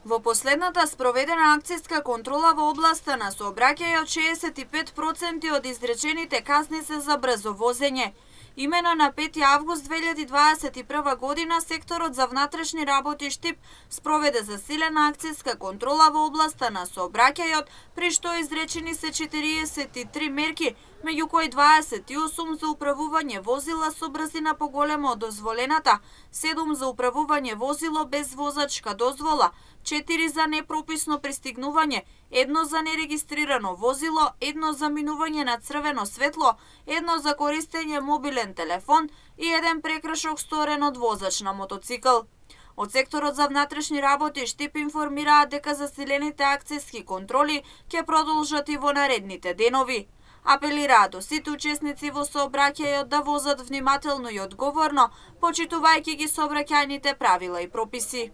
Во последната спроведена акцијска контрола во областа на сообраќајот 65% од изречените казни се за брзо возење. Имено на 5 август 2021 година секторот за внатрешни работи Штип спроведе засилена акцијска контрола во областа на сообраќајот, при што изречени се 43 мерки, меѓу кои 28 за управување возила со брзина поголема од дозволената, 7 за управување возило без возачка дозвола, 4 за непрописно пристигнување, 1 за нерегистрирано возило, 1 за минување на црвено светло, 1 за користење мобилен телефон и 1 прекршок сторен од возач на мотоцикл. Од секторот за внатрешни работи Штип информираат дека засилените акцијски контроли ќе продолжат и во наредните денови. Апелираат до сите учесници во сообраќајот да возат внимателно и одговорно, почитувајќи ги сообраќајните правила и прописи.